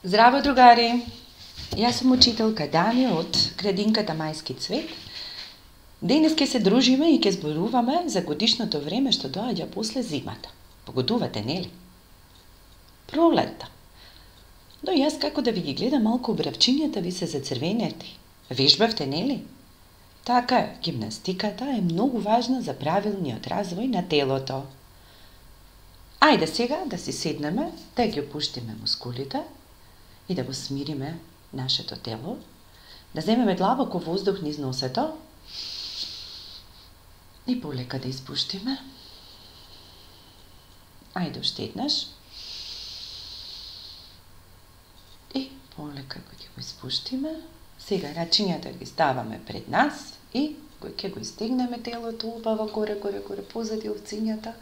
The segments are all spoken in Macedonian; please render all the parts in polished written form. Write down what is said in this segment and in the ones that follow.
Здраво, другари! Јас сум учителка Дани од градинката Мајски цвет. Денес ќе се дружиме и ќе зборуваме за годишното време што доаѓа после зимата. Погодувате, нели? Пролетта. Но јас како да ви ги гледам малку бравчињата ви се зацрвенети. Вежбавте, нели? Така е, гимнастиката е многу важна за правилниот развој на телото. Ајде сега да си седнеме, да ги опуштиме мускулите и да го смириме нашето тело, да земеме длабоко воздух низ носето и полека да испуштиме. Ајде уште еднаш. И полека ќе го испуштиме. Сега рачињата ги ставаме пред нас и ќе го истегнеме телото убаво горе позади овцињата.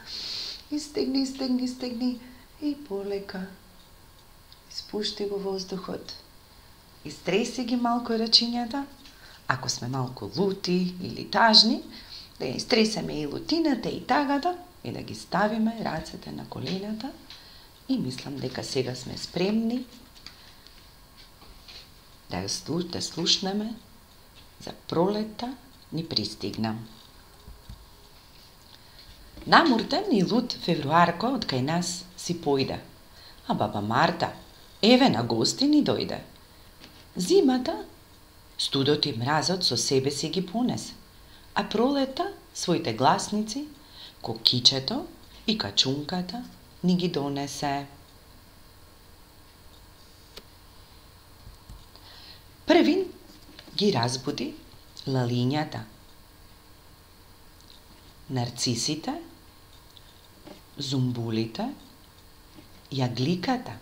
Истегни и полека испушти го воздухот. Истреси ги малку рачињата. Ако сме малку лути или тажни, да ја истресеме и лутината и тагата и да ги ставиме рацете на колената и мислам дека сега сме спремни да слушнеме за пролетта ни пристигна. Намуртен и лут февруарко од кај нас си појде, а баба Марта еве на гости ни дојде. Зимата, студот и мразот со себе си ги понесе, а пролета своите гласници, кокичето и качунката ни ги донесе. Првин ги разбуди лалињата, нарцисите, зумбулите, јагликата.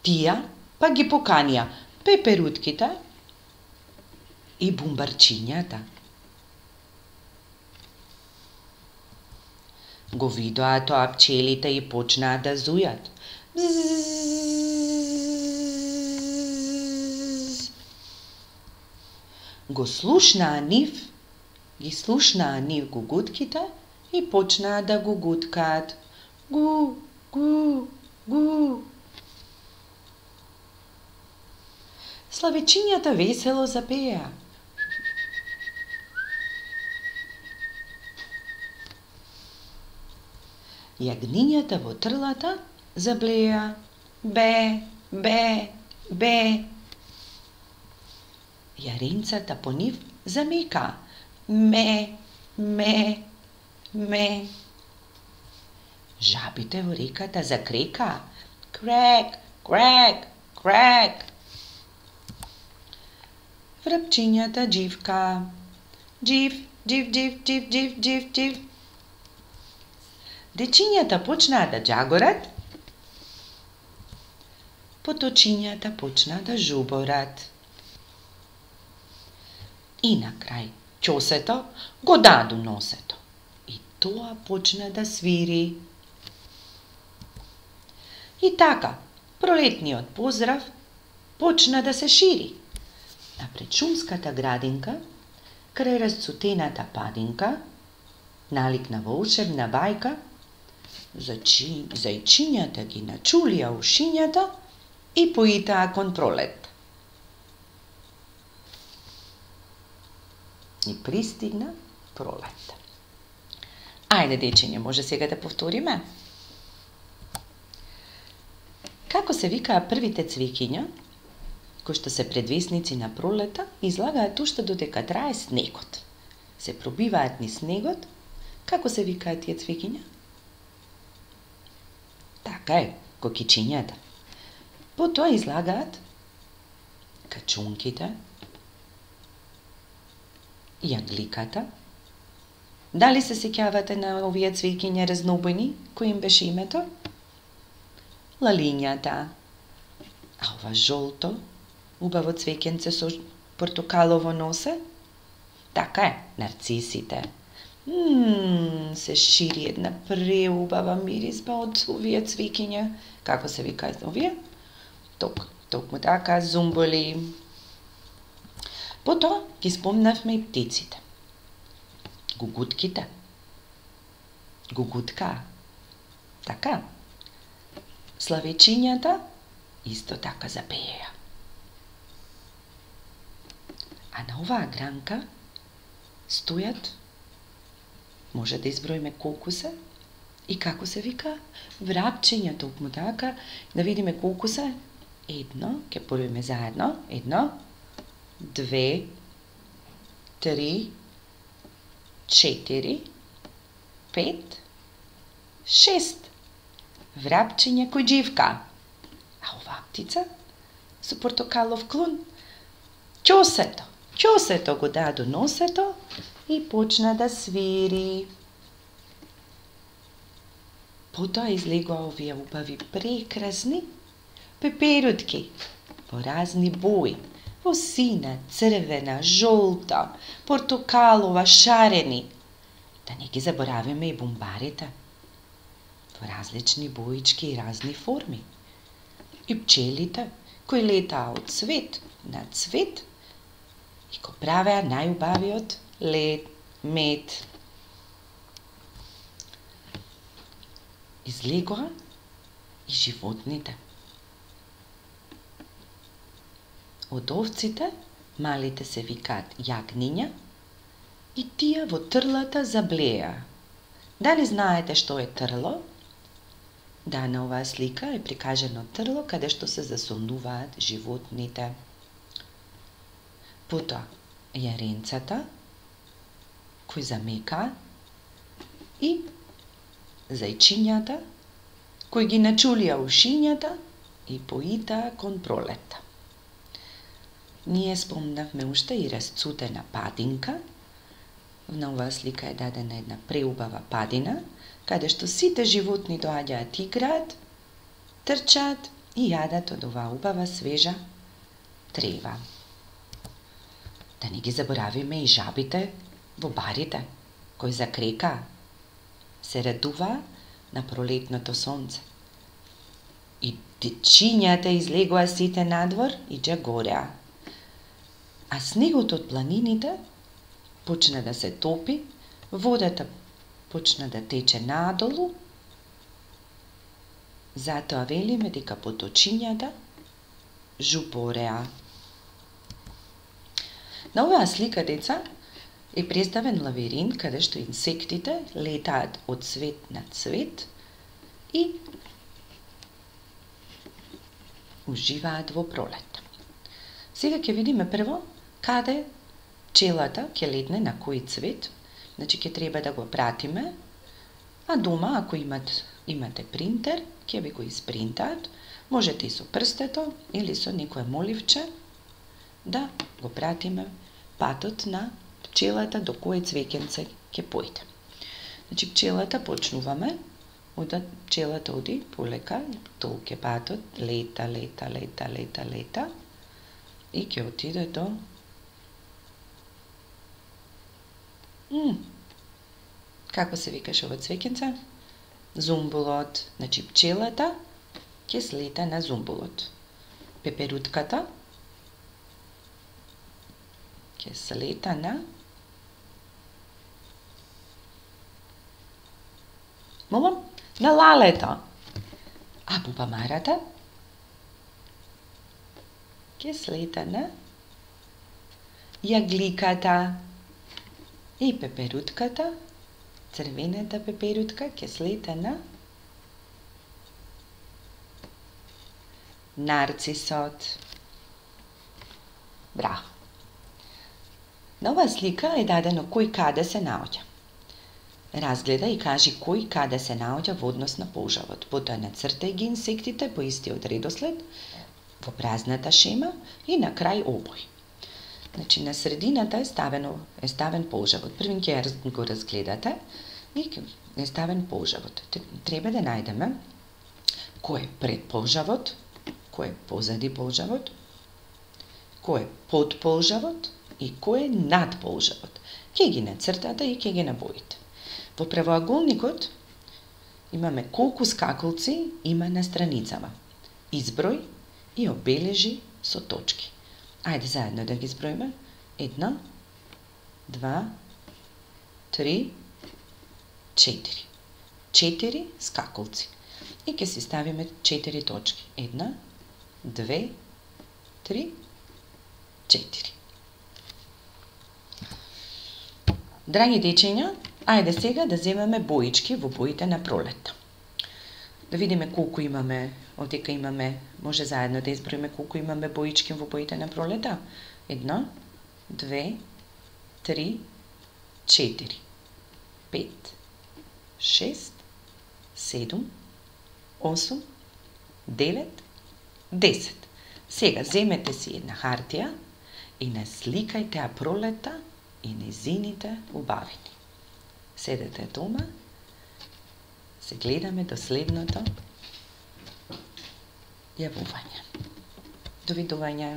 Тија па ги поканија пеперутките и бумбарчињата. Го видоа тоа пчелите и почнаа да зујат. Ги слушнаа нив гугутките и почнаа да гугуткаат. Гу, гу, гу. Славичињата весело запеа. Јагнињата во трлата заблеа. Бе, бе, бе. Јаренцата по нив замека. Ме, ме, ме. Жабите во реката закрека. Крек, крек, крек. Врапчињата дживка. Джив, джив, джив, джив, джив, джив, джив. Дечињата почнаа да џагорат. Поточињата почнаа да жуборат. И на крај ќосето го даду носето. И тоа почна да свири. И така, пролетниот поздрав почна да се шири. А пред шумската градинка, крај расцутената падинка, наликна волшебна бајка, зајчињата ги начулија ушињата и поитаа кон пролет. И пристигна пролет. Ајде, дечиње, може сега да повториме? Како се викаа првите цвеќиња, кои што се предвесници на пролета, излагаат уште додека трае снегот. Се пробиваат низ снегот, како се викаат тие цвеќиња? Така е, кокичињата. Потоа излагаат качунките, јагликата. Дали се сеќавате на овие цвеќиња разнобојни, кој им беше името? Лалињата. А ова жолто, убаво цвеќенце со портокалово носе? Така е, нарцисите. Се шири една преубава миризба од овие цвеќиња. Како се викаат овие? Токму така, зумбули. Потоа ги спомнавме и птиците. Гугутките. Гугутка. Така. славечињата исто така запееја. А на оваа гранка стојат, може да изброиме колку се и како се вика, врапчиња, токму така, да видиме колку се. 1, ќе броиме заедно, 1, 2, 3, 4, 5, 6 врапчиња кој дживка. А оваа птица со портокалов клун, ќосето го даде до носето и почна да свири. Потоа излегоа овие убави прекрасни пеперутки во разни бои, во сина, црвена, жолта, портокалова, шарени. Да не ги заборавиме и бумбарите во различни боички и разни форми. И пчелите кои летаа од цвет на цвет и го правеа најубавиот мед. Излегоа и животните. Од овците малите се викаат јагниња и тие во трлата заблеа. Дали знаете што е трло? Да, на оваа слика е прикажано трло каде што се засолнуваат животните. Потоа јаренцата кои замекаа и зајчињата кои ги начулија ушињата и поитаа кон пролетта. Ние спомнавме уште и разцутена падинка. На оваа слика е дадена една преубава падина, каде што сите животни доаѓаат, играат, трчаат и јадат од оваа убава свежа трева. Да не ги заборавиме и жабите во барите, кои закрекаа, се радуваа на пролетното сонце. И дечињата излегоа сите надвор и џагореа. А снегот од планините почна да се топи, водата почна да тече надолу, затоа велиме дека поточињата жупореа. На оваа слика, деца, е представен лавиринт каде што инсектите летаат од цвет на цвет и уживаат во пролет. Сега ќе видиме прво каде пчелата ќе летне на кој цвет, значи ќе треба да го пратиме, а дома ако имате принтер, ќе ви го испринтаат, можете и со прстето или со некое моливче да го пратиме патот на пчелата до кое цвеќенце ќе појде. Значи пчелата почнуваме, пчелата оди полека, толку е патот, лета и ќе отиде до како се викаше ова цвеќенце? Зумбулот. Значи пчелата ќе слета на зумбулот. Пеперутката ќе слета на на лалето. А бубамарата ќе слета на јагликата. И пеперутката, црвената пеперутка, ќе слета на нарцисот. Браво! На оваа слика е дадено кој каде се наоѓа. Разгледа и кажи кој каде се наоѓа во однос на полжавот. Потоа нацртај ги инсектите по истиот редослед во празната шема и на крај обој. Значи, на средината е ставен полжавот. Првин ќе го разгледате и е ставен полжавот. Треба да најдеме кој е пред полжавот, кој е позади полжавот, кој е под полжавот и кој е над полжавот. Ќе ги нацртате и ќе ги набоите. Во правоаголникот имаме колку скакалци има на страницама. Изброј и обележи со точки. Ајде заедно да ги зброиме. 1, 2, 3, 4. 4 скакалци. и ќе си ставиме 4 точки. 1, 2, 3, 4. Драги дечиња, ајде сега да земеме боички во боите на пролетта. Да видиме колку имаме, одека имаме, може заедно да изброиме колку имаме боички во боите на пролета. 1, 2, 3, 4, 5, 6, 7, 8, 9, 10. Сега земете си една хартија и насликајте ја пролета и незините убавини. Седете дома, се гледаме до следното јавување. Довидување.